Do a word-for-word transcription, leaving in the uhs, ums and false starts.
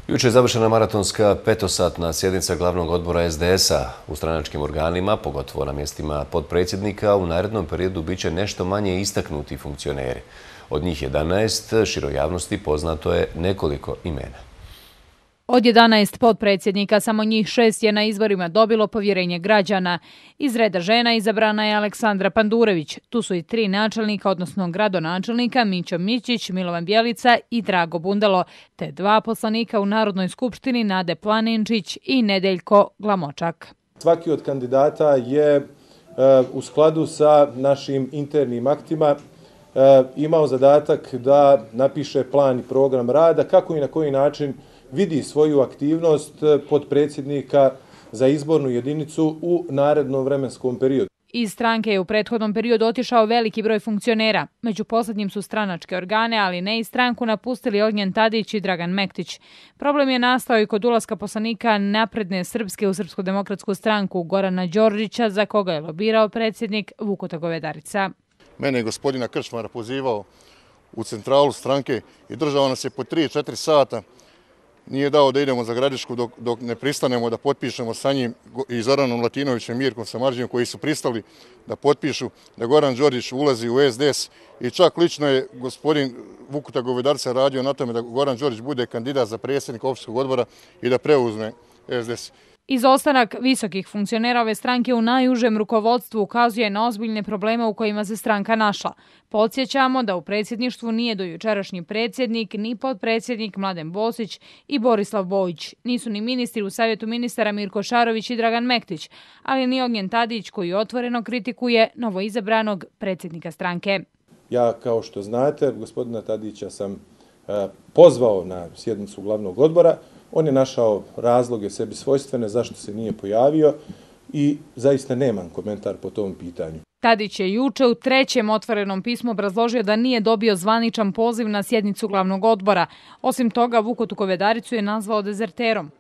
Jučer je završena maratonska petosatna sjednica glavnog odbora es de es a. U stranačkim organima, pogotovo na mjestima potpredsjednika, u narednom periodu bit će nešto manje istaknuti funkcioneri. Od njih jedanaest široj javnosti poznato je nekoliko imena. Od jedanaest potpredsjednika samo njih šest je na izborima dobilo povjerenje građana. Iz reda žena izabrana je Aleksandra Pandurević. Tu su i tri načelnika, odnosno gradonačelnika, Mićo Mićić, Milovan Bjelica i Drago Bundalo, te dva poslanika u Narodnoj skupštini, Nade Planinčić i Nedeljko Glamočak. Svaki od kandidata je u skladu sa našim internim aktima imao zadatak da napiše plan i program rada, kako i na koji način vidi svoju aktivnost potpredsjednika za izbornu jedinicu u narednom vremenskom periodu. Iz stranke je u prethodnom periodu otišao veliki broj funkcionera. Među posljednjim su stranačke organe, ali ne i stranku napustili Ognjen Tadić i Dragan Mektić. Problem je nastao i kod ulaska poslanika Napredne Srpske u Srpsku demokratsku stranku Gorana Đorđića, za koga je lobirao predsjednik Vukuta Govedarica. Mene je gospodina Krčmara pozivao u centralu stranke i držao nas je po tri četiri sata. Nije dao da idemo za Gradišku dok, dok ne pristanemo da potpišemo sa njim i Zoranom Latinovićem i Mirkom Samardžijom, koji su pristali da potpišu da Goran Đorđić ulazi u es de es, i čak lično je gospodin Vukuta Govedarica radio na tome da Goran Đorđić bude kandidat za predsjednika opštinskog odbora i da preuzme es de es. Izostanak visokih funkcionera ove stranke u najužem rukovodstvu ukazuje na ozbiljne probleme u kojima se stranka našla. Podsjećamo da u predsjedništvu nije do jučerašnji predsjednik, ni potpredsjednik Mladen Bosić i Borislav Bojić. Nisu ni ministri u savjetu ministara Mirko Šarović i Dragan Mektić, ali ni Ognjen Tadić, koji otvoreno kritikuje novoizabranog predsjednika stranke. Ja, kao što znate, gospodina Tadića sam pozvao na sjednicu glavnog odbora. On je našao razloge sebi svojstvene zašto se nije pojavio i zaista nemam komentar po tom pitanju. Tadić je juče u trećem otvorenom pismu obrazložio da nije dobio zvaničan poziv na sjednicu glavnog odbora. Osim toga, Vukutu Govedaricu je nazvao dezerterom.